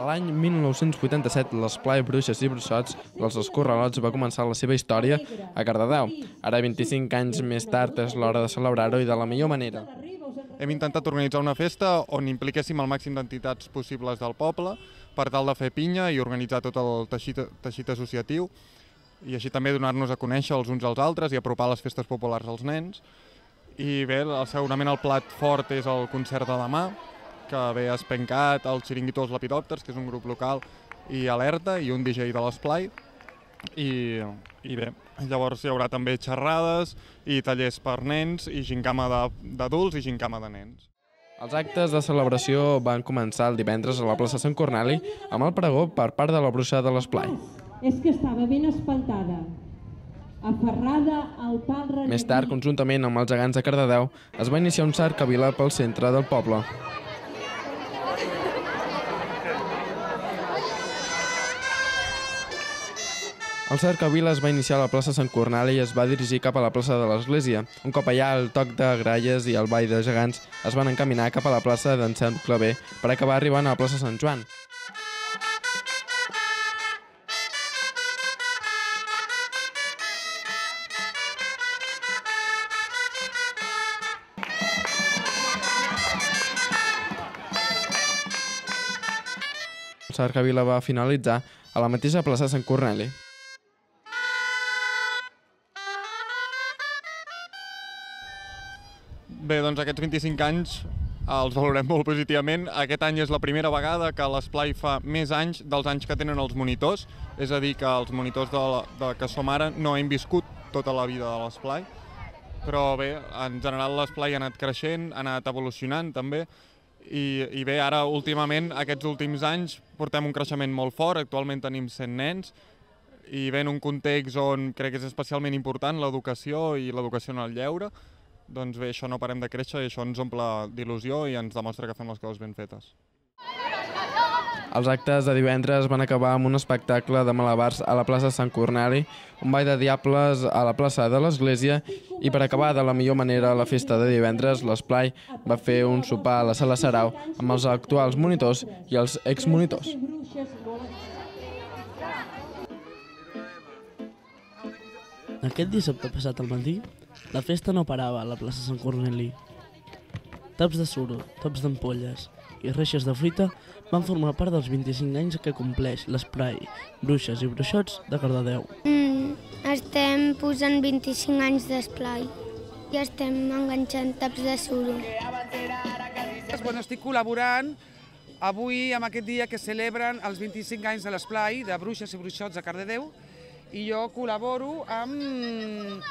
L'any 1987, l'esplai Bruixes i Bruixots dels Escorralots va començar la seva història a Cardedeu. Ara, 25 anys més tard, és l'hora de celebrar-ho i de la millor manera. Hem intentat organitzar una festa on impliquéssim el màxim d'entitats possibles del poble per tal de fer pinya i organitzar tot el teixit associatiu i així també donar-nos a conèixer els uns als altres i apropar les festes populars als nens. I bé, segurament el plat fort és el concert de demà, que ve Espencat, el Xiringuito dels Lepidòpters, que és un grup local, i Alerta, i un DJ de l'Esplai. I bé, llavors hi haurà també xerrades i tallers per nens i gincama d'adults i gincama de nens. Els actes de celebració van començar el divendres a la plaça Sant Corneli amb el pregó per part de la bruixa de l'Esplai. És que estava ben espantada, aferrada al pal reneguí. Més tard, conjuntament amb els gegants de Cardedeu, es va iniciar un cercavila pel centre del poble. El cercavila es va iniciar a la plaça Sant Corneli i es va dirigir cap a la plaça de l'Església. Un cop allà, el toc de gralles i el ball de gegants es van encaminar cap a la plaça d'en Sant Claver per acabar arribant a la plaça Sant Joan. El cercavila va finalitzar a la mateixa plaça Sant Corneli. Bé, doncs aquests 25 anys els valorem molt positivament. Aquest any és la primera vegada que l'Esplai fa més anys dels anys que tenen els monitors, és a dir, que els monitors que som ara no hem viscut tota la vida de l'Esplai, però bé, en general l'Esplai ha anat creixent, ha anat evolucionant també, i bé, ara últimament, aquests últims anys, portem un creixement molt fort, actualment tenim 100 nens, i bé, en un context on crec que és especialment important l'educació i l'educació en el lleure, doncs bé, això no parem de créixer i això ens omple d'il·lusió i ens demostra que fem les coses ben fetes. Els actes de divendres van acabar amb un espectacle de malabars a la plaça Sant Corneli, un ball de diables a la plaça de l'Església i per acabar de la millor manera la festa de divendres, l'Esplai va fer un sopar a la Sala Sarau amb els actuals monitors i els exmonitors. Aquest dissabte passat al matí, la festa no parava a la plaça Sant Corneli. Taps de suro, taps d'ampolles i reixes de fruita van formar part dels 25 anys que compleix l'Esplai Bruixes i Bruixots de Cardedeu. Estem posant 25 anys d'Esplai i estem enganxant taps de suro. Estic col·laborant avui amb aquest dia que celebren els 25 anys de l'Esplai de Bruixes i Bruixots de Cardedeu i jo col·laboro amb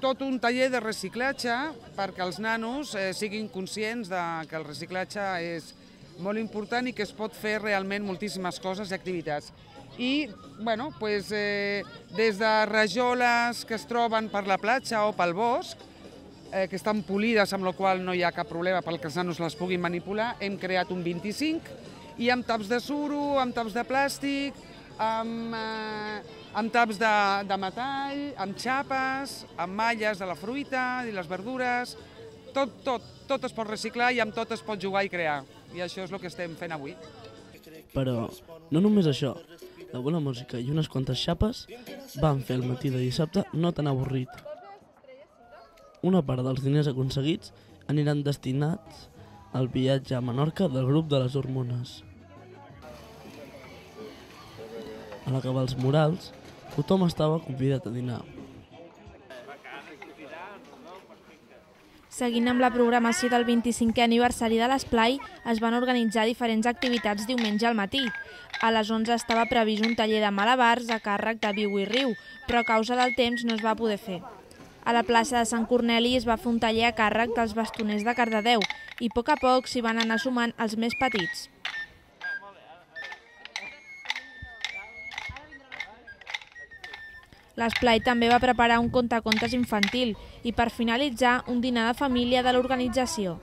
tot un taller de reciclatge perquè els nanos siguin conscients que el reciclatge és molt important i que es pot fer realment moltíssimes coses i activitats. I des de rajoles que es troben per la platja o pel bosc, que estan polides, amb la qual no hi ha cap problema perquè els nanos les puguin manipular, hem creat un 25 i amb taps de suro, amb taps de plàstic, amb taps de metall, amb xapes, amb malles de la fruita i les verdures, tot es pot reciclar i amb tot es pot jugar i crear. I això és el que estem fent avui. Però no només això, la bona música i unes quantes xapes van fer el matí de dissabte no tan avorrit. Una part dels diners aconseguits aniran destinats al viatge a Menorca del grup de les Hormones. A l'acabar els murals, tothom estava convidat a dinar. Seguint amb la programació del 25è aniversari de l'Esplai, es van organitzar diferents activitats diumenge al matí. A les 11 estava previst un taller de malabars a càrrec de Viu i Riu, però a causa del temps no es va poder fer. A la plaça de Sant Corneli es va fer un taller a càrrec dels bastoners de Cardedeu i a poc s'hi van anar sumant els més petits. L'Esplai també va preparar un contacontes infantil i per finalitzar un dinar de família de l'organització.